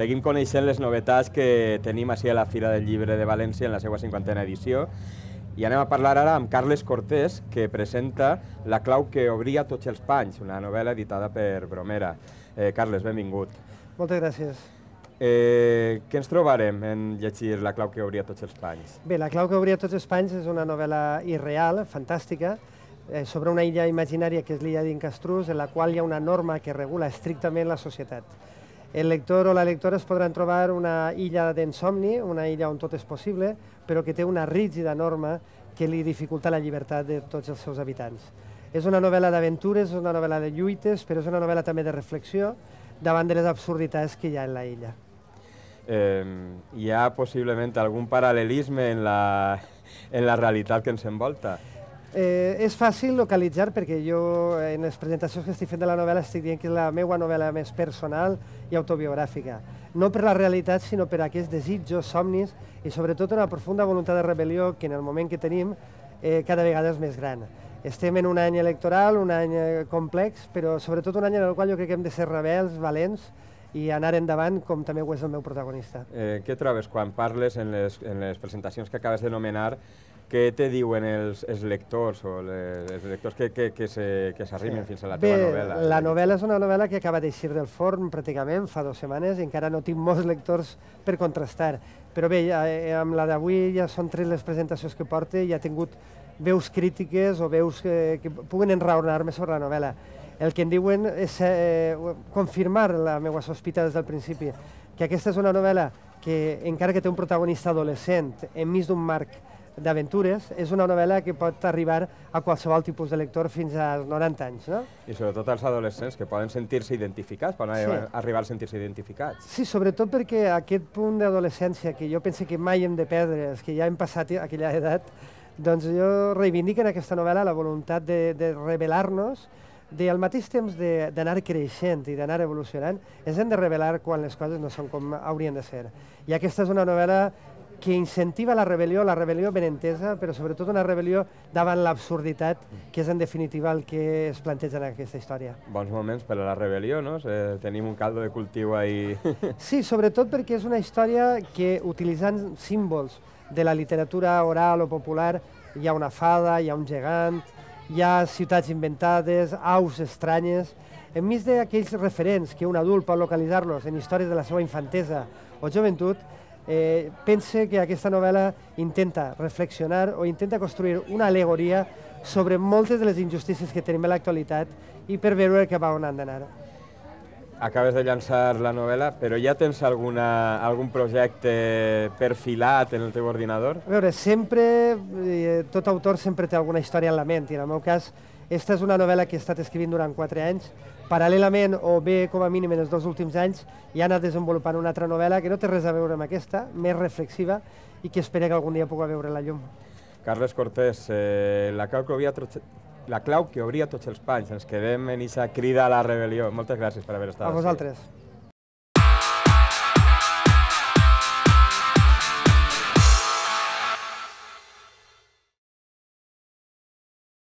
seguim coneixent les novetats que tenim així a la Fira del Llibre de València en la seva 50a edició. I anem a parlar ara amb Carles Cortés, que presenta La clau que obria tots els panys, una novel·la editada per Bromera. Carles, benvingut. Moltes gràcies. Què ens trobarem en llegir La clau que obria tots els panys? Bé, La clau que obria tots els panys és una novel·la irreal, fantàstica, sobre una illa imaginària que és l'illa d'Incastrús, en la qual hi ha una norma que regula estrictament la societat. El lector o la lectora es podran trobar una illa d'ensomni, una illa on tot és possible, però que té una rígida norma que li dificulta la llibertat de tots els seus habitants. És una novel·la d'aventures, és una novel·la de lluites, però és una novel·la també de reflexió davant de les absurditats que hi ha en la illa. Hi ha possiblement algun paral·lelisme en la realitat que ens envolta? És fàcil localitzar perquè jo en les presentacions que estic fent de la novel·la estic dient que és la meva novel·la més personal i autobiogràfica. No per la realitat, sinó per aquests desitjos, somnis i sobretot una profunda voluntat de rebel·lió que en el moment que tenim cada vegada és més gran. Estem en un any electoral, un any complex, però sobretot un any en el qual jo crec que hem de ser rebels, valents i anar endavant com també ho és el meu protagonista. Què trobes quan parles en les presentacions que acabes de nomenar? Què te diuen els lectors o els lectors que s'arrimen fins a la teva novel·la? Bé, la novel·la és una novel·la que acaba d'eixir del forn pràcticament fa 2 setmanes i encara no tinc molts lectors per contrastar. Però bé, amb la d'avui ja són 3 les presentacions que porto i ja he tingut veus crítiques o veus que puguen enraonar-me sobre la novel·la. El que em diuen és confirmar la meva sospita des del principi, que aquesta és una novel·la que, encara que té un protagonista adolescent enmig d'un marc d'aventures, és una novel·la que pot arribar a qualsevol tipus de lector fins als 90 anys, no? I sobretot als adolescents, que poden sentir-se identificats, poden arribar a sentir-se identificats. Sí, sobretot perquè aquest punt d'adolescència, que jo penso que mai hem de perdre, els que ja hem passat aquella edat, doncs jo reivindico en aquesta novel·la la voluntat de rebel·lar-nos, al mateix temps d'anar creixent i d'anar evolucionant, ens hem de rebel·lar quan les coses no són com haurien de ser. I aquesta és una novel·la que incentiva la rebel·lió ben entesa, però sobretot una rebel·lió davant l'absurditat, que és en definitiva el que es planteja en aquesta història. Bons moments per a la rebel·lió, no? Tenim un caldo de cultiu ahí. Sí, sobretot perquè és una història que, utilitzant símbols de la literatura oral o popular, hi ha una fada, hi ha un gegant, hi ha ciutats inventades, aus estranyes. Enmig d'aquells referents que un adult pot localitzar-los en històries de la seva infantesa o joventut, pense que aquesta novel·la intenta reflexionar o intenta construir una al·legoria sobre moltes de les injustícies que tenim a l'actualitat i per veure cap a on han d'anar. Acabes de llançar la novel·la, però ja tens algun projecte perfilat en el teu ordinador? A veure, sempre, tot autor sempre té alguna història en la ment, i en el meu cas, aquesta és una novel·la que he estat escrivint durant 4 anys. Paral·lelament, o bé com a mínim en els 2 últims anys, he anat desenvolupant una altra novel·la que no té res a veure amb aquesta, més reflexiva, i que espero que algun dia pugui veure la llum. Carles Cortés, La clau que obria tots els panys. Ens quedem en aquesta crida a la rebel·lió. Moltes gràcies per haver estat aquí. A vosaltres.